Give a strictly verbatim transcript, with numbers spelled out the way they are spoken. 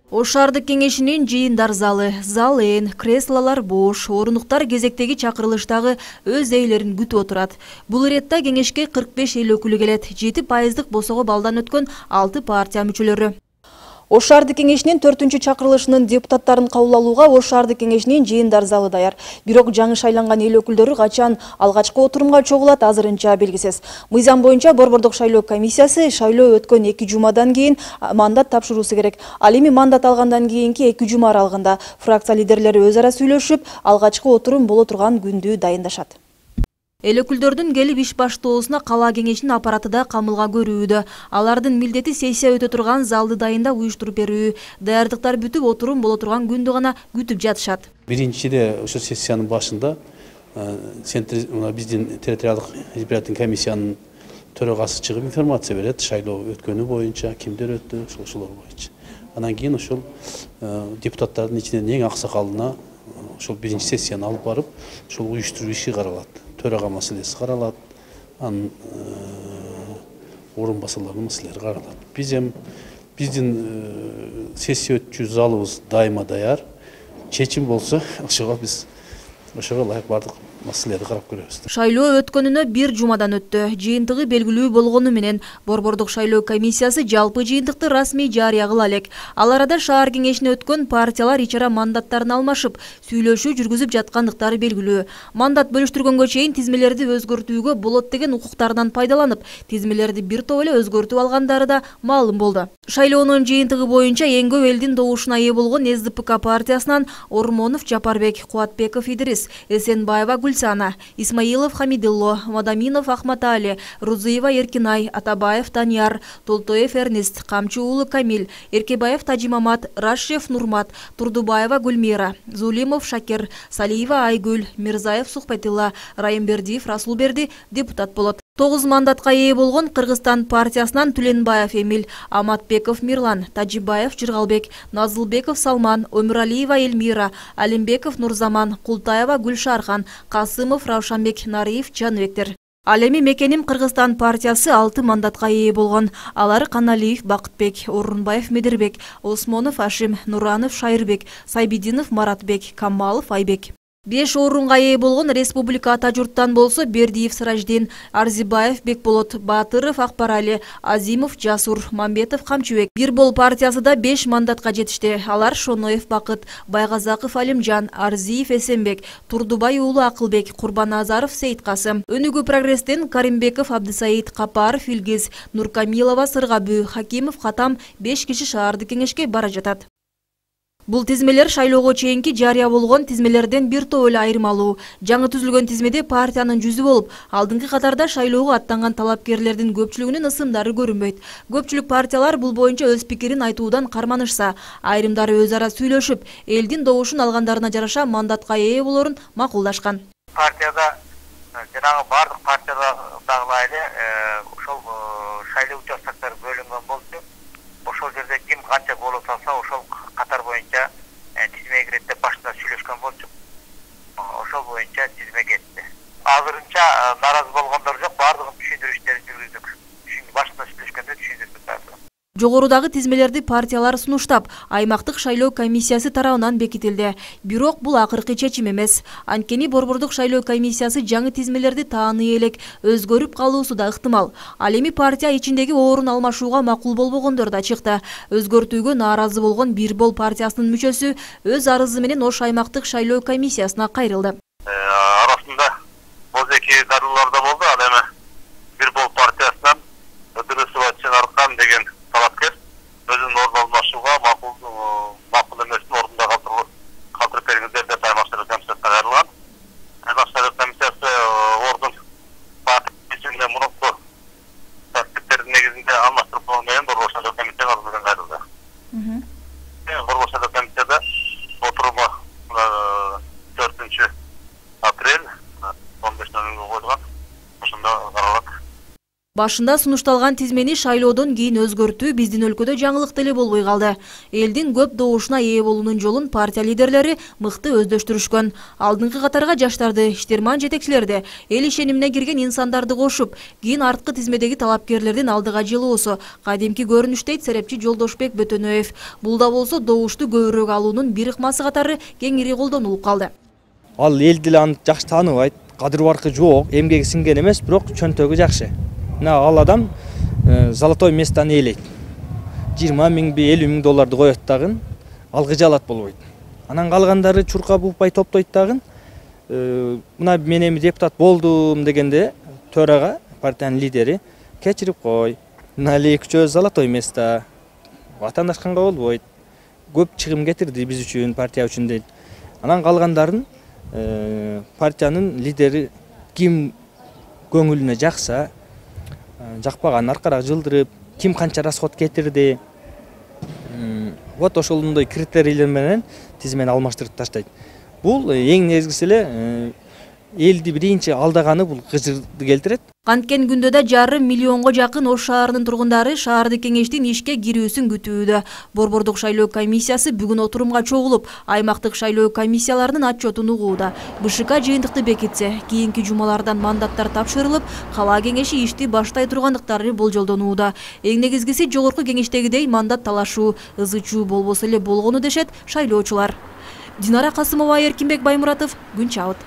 Ош шаардык кеңешинин жыйындар залы, зал ээн, креслолор бош, орунуктар кезектеги чакырылыштагы өз ээлерин күтүп отурат. Бул иретте кеңешке кырк беш эл өкүлү келет, жети пайыздык босого балдан өткөн алты партия мүчөлөрү. Ош шаардык кеңешинин төртүнчү чакырылышынын депутаттарын кабыл алууга Ош шаардык кеңешинин жыйындар залы даяр. Бирок жаңы шайланган эл өкүлдөрү качан алгачкы отурумга чогулат азырынча белгисиз. Мыйзам боюнча Борбордук шайлоо комиссиясы шайлоо өткөн эки жумадан кийин мандат тапшыруусу керек. Ал эми мандат алгандан кийинки эки жума аралыгында фракция лидерлери өз ара сүйлөшүп, алгачкы отурум боло турган күндү дайындашат. Эл өкүлдөрдүн келип иш баштоосуна кала кеңешинин аппараты да камылга көрүүдө. Алардын милдети сессия өтө турган залды дайындап уюштуруп берүү, даярдыктар бүтүп отурум боло турган күндү гана күтүп жатышат. Биринчиде ошо сессиянын башында биздин территориалдык избирательный комиссиянын төрагасы чыгып информация берет, шайлоо өткөнү боюнча, кимдер өттү, ошолор боюнча. Анан кийин ошол депутаттардын ичинен эң аксакалына ошол биринчи сессияны алып барып, ошол уюштуруу иши каралат. Төрага маселеси каралат, анын орун басарларынын маселелери каралат. Биз эми биздин сессия өтчү залыбыз дайыма даяр. Чечим болсо, ошого биз ошого ылайык бардык маселелерди карап көрөбүз. Шайлоо өткөнүнө бир жумадан өттү. Жыйынтыгы белгилүү болгону менен Борбордук шайлоо комиссиясы жалпы жыйынтыкты расмий жарыя кыла элек. Ал арада шаар кеңешине өткөн партиялар ичара мандаттарын алмашып, сүйлөшүү жүргүзүп жаткандыктары белгилүү. Мандат бөлүштүргөнгө чейин тизмелерди өзгөртүүгө болот деген укуктарынан пайдаланып, тизмелерди бир топ эле өзгөртүп алгандары да маалым болду. Шайлоонун жыйынтыгы боюнча эң көп элдин добушуна ээ болгон эс дэ пэ ка партиясынан Ормонов Жапарбек, Кубатбеков Идрис, Эсенбаева Гульсана, Исмаилов Хамидылло, Мадаминов Ахматали, Рузыева Эркинай, Атабаев Данияр, Толтоев Эрнест, Камчы уулу Камил, Эркебаев Тажимамат, Рашев Нурмат, Турдубаева Гульмира, Зулимов Шакир, Салиева Айгүл, Мирзаев Сухбатилла, Райымбердиев Расулберди депутат болот. Тогуз мандатка ээ болгон Кыргызстан партиясынан Түленбаев Эмил, Аматбеков Мирлан, Тажибаев Жыргалбек, Назылбеков Салман, Өмүралиева Эльмира, Алимбеков Нурзаман, Култаева Гүлшархан, Касымов Раушанбек, Нариев Жаныбектер. Ал эми Мекеним Кыргызстан партиясы алты мандатка ээ болгон. Алар Каналиев Бакытбек, Орунбаев Медербек, Осмонов Ашим, Нуранов Шайырбек, Сайбидинов Маратбек, Камалов Айбек. Беш орунга ээ болгон республика ата журттан болсо Бердиев Сыраждин, Арзибаев Бекболот, Батыров Акбарали, Азимов Жасур, Мамбетов Камчыбек. Бир бол партиясы да беш мандатка жетишти. Алар Шоноев Бакыт, Байгазаков Алимжан, Арзиев Эсенбек, Турдубай уулу Акылбек, Курбаназаров Сейиткасым. Өнүгүү прогресстен Каримбеков Абдысаид, Капаров Илгиз, Нуркамилова Сыргабүү, Хакимов Катам беш киши шаардык кеңешке бара жатат. Бул тизмелер шайлоого чейинки жарыя болгон тизмелерден бир топ эле айырмалуу. Жаңы түзүлгөн тизмеде партиянын жүзү болуп, алдыңкы катарда шайлоого аттанган талапкерлердин көпчүлүгүнүн ысымдары көрүнбөйт. Көпчүлүк партиялар бул боюнча өз пикирин айтуудан карманышса, айрымдары өз ара сүйлөшүп, элдин добушун алгандарына жараша мандатка ээ болорун макулдашкан. Партияда жанагы бардык партиядагылай эле ошол шайлоо участоктор бөлүнгөн болчу. Ошол жерде ким канча голос алса, ошол катар боюнча тизмеге кирет деп башында сүйлөшкөн болчук. Ошол боюнча тизме кетти. Азырынча наразы болгондор жок, бардыгын түшүндүрүү иштерин жүргүздүк. Башында сүйлөшкөндө түшүндүрдүк бардыгын. Жогорудагы тизмелерди партиялар сунуштап, аймактык шайлоо комиссиясы тарабынан бекитилди. Бирок бул акыркы чечим эмес. Анткени Борбордук шайлоо комиссиясы жаңы тизмелерди тааный элек, өзгөрүп калуусу да ыктымал. Ал эми партия ичиндеги орун алмашууга макул болбогондор да чыкты. Өзгөртүүгө нааразы болгон Бир бол партиясынын мүчөсү өз арызы менен Ош аймактык шайлоо комиссиясына кайрылды. Арасында бозеки дарылар да болду. Ал эми Бир бол партиясынан Ыдырысова Чынаркан деген талапкер өзүнүн ордун алмашууга макул макул эмесин ордунда калтырып бергиндер деп аймак шайлоо комиссиясына кайрылган. Аймак шайлоо комиссиясы ордун партиясына мурунку тартиптердин негизинде алмаштырып койгон менен Борбор шайлоо комиссиясына арыздан кайрылды. Борбор шайлоо комиссияда отуруму төртүнчү апрель он беш нөл нөлгө койулган. Ошондо Башында сунушталган тизмени шайлоодон кийин өзгөртүү биздин өлкөдө жаңылык деле болбой калды. Элдин көп добушуна ээ болуунун жолун партия лидерлери мыкты өздөштүрүшкөн. Алдыңкы катарга жаштарды, иштирман жетекчилерди, эл ишенимине кирген инсандарды кошуп, кийин арткы тизмедеги талапкерлердин алдыга жылуусу кадимки көрүнүш дейт серепчи Жолдошбек Бөтөнөев. Бул да болсо добушту көбүрөөк алуунун бир ыкмасы катары кеңири колдонулуп калды. Ал эл деле аны жакшы тааныбайт, кадыр баркы жок, эмгеги сиңген эмес, бирок чөнтөгү жакшы. Мына ал адам золотой местаны ээлейт. жыйырма миңби, элүү миң долларды коет дагы, алгыжы алат болбойт. Анан калгандары чуркап укпай топтойт дагы. Мына мен эми депутат болдум дегенде төрага, партиянын лидери кечирип кой. Мына эле үчөө золотой место. Ватандашканга болбойт. Көп чыгым кетирди биз үчүн, партия үчүн дейт. Анан калгандарын партиянын лидери ким көңүлүнө жакса, жакпаган аркараак жылдырып, ким канча расход кетирди. Вот ошондой критерийлер менен тизмени алмаштырып таштайт. Бул эң негизгиси эле элди биринчи алдаганы бул кыжырды келтирет. Канткен күндө да жарым миллионго жакын Ош шаарынын тургундары шаардык кеңештин ишке кирүүсүн күтүүдө. Борбордук шайлоо комиссиясы бүгүн отурумга чогулуп, аймактык шайлоо комиссияларынын отчетун угууда. БШК жыйынтыкты бекитсе, кийинки жумалардан мандаттар тапшырылып, кала кеңеши ишти баштай тургандыктары болжолдонууда. Эң негизгиси жогорку кеңештегидей мандат талашуу, ызы-чуу болбосо эле болгону дешет шайлоочулар. Динара Касымова, Эркинбек Баймуратов, Күн Чабыт.